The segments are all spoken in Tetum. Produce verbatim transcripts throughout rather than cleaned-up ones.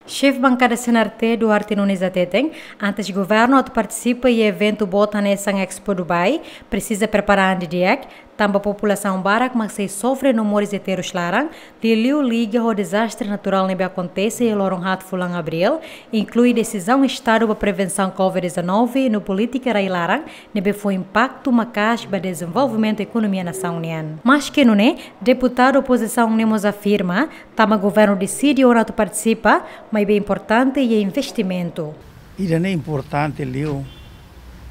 Xefe Bankada C N R T, Duarte Nunes hateten, antes governu atu partisipa iha eventu boot hanesan Expo Dubai, presiza prepara an didi'ak, tanba populasaun barak mak sei sofre no moris iha terus laran, liuliu liga ho dezastre naturál ne'ebé akontese iha loron haat fulan Abríl, inklui desizaun Estadu ba prevensaun covid dezanove no polítika rai-laran ne'ebé fó impaktu maka'as ba dezenvolvimentu ekonomia nasaun nian. Maske nune'e, deputadu opozisaun ne'e mós afirma, tanba governu deside ona atu partisipa, maibé importante iha investimentu. Ida-ne'e importante liu,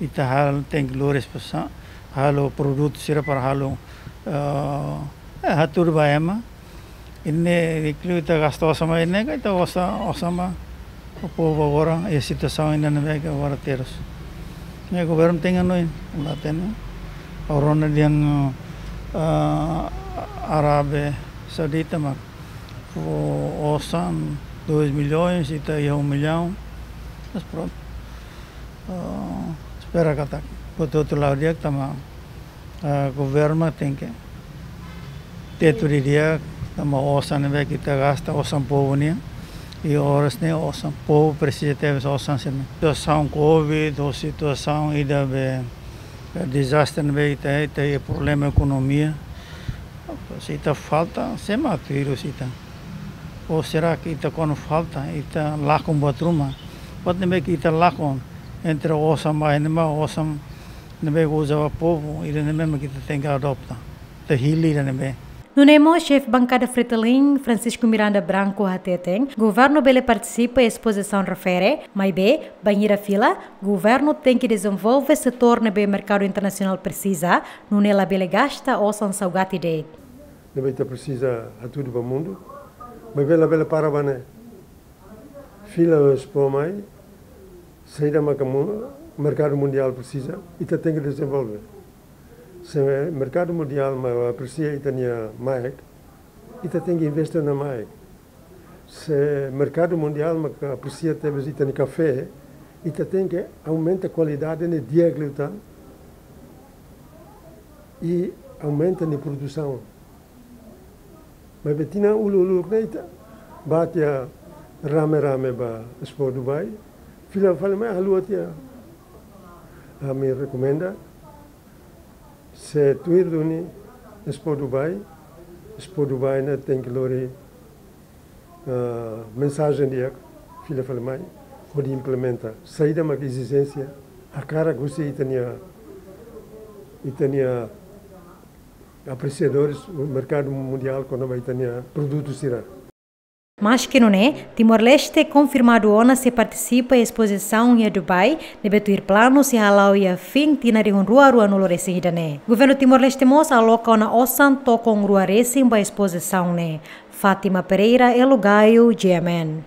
ita halo tenke lori esposa, halo produtu sira para halo, eh, eh, hatudu ba ema. Ida-ne'e, inkluidu ita gasta osan mai ne'e, ka ita osan, osan ba, o povu agora, e situasaun ida-ne'ebé ke agora terus. Ne'e governu tenke hanoin, la hatene. Agora ne'e dehan, eh, Arábia Saudita mak fó osan dois milhões, ita iha um milhão. Mas pronto. Ah, espera katak, buat hotu la'o di'ak tanba, ah, governu tenke tetu didi'ak, tanba osan ne'ebé ke ita gasta, osan povu nian. I oras ne'e osan povu presiza tebes osan sira-ne'e. Situasaun covid, ou situasaun ida be, eh, dezastre ne'ebé ita, ita iha problema ekonomia. Se ita falta, sé mak tuir ita? Ou será que ita kuandu falta, ita lakon buat ruma? Buat ne'ebé ke ita lakon entre osan ba ema, osan ne'ebé uza ba povu, ida-ne'e mak ita tenke adota. Ita hili ida-ne'ebé. Nune'e mós xefe bankada Fretilin, Francisco Miranda Branco hateten, governu bele partisipa espozisaun refere, maibé, bainhira fila, governu tenke dezenvolve setór ne'ebé merkadu internasionál presiza, nune'e labele gasta osan saugati de'it. Ne'ebé ita presiza hatudu ba mundu, maibé labele para ba ne'e. Fila Expo mai, saida maka mu-, merkadu mundiál presiza, ita tenke dezenvolve. Se merkadu mundiál mak apresia ita-nia MAEC, ita tenke investe ona MAEC. Se merkadu mundiál mak apresia tebes ita-nia kafé, ita tenke aumenta kualidade ne'e di'ak liután i aumenta nia produsaun. Maibé tinan uluk-uluk ne'e ita bá tiha rame-rame ba Expo Dubai, fila fali mai haluha tiha. Ami rekomenda, se tuir duni Expo Dubai, Expo Dubai ne'e tenke lori, ah, mensajen di'ak fila fali mai, hodi implementa. Saida mak ezijénsia, hakarak husi ita-nia, ita-nia apresiadores, merkadu mundiál, kona-ba ita-nia produtu sira. Maske nune'e, Timor-Leste konfirmadu ona sei partisipa espozisaun iha Dubai, ne'ebé tuir planu sei hala'o iha fin tinan rihun rua ruanulu resin ida-ne'e. Governu Timor-Leste mós aloka ona osan tokon rua resin ba espozisaun ne'e. Fátima Pereira, Elo Gaio, G M N.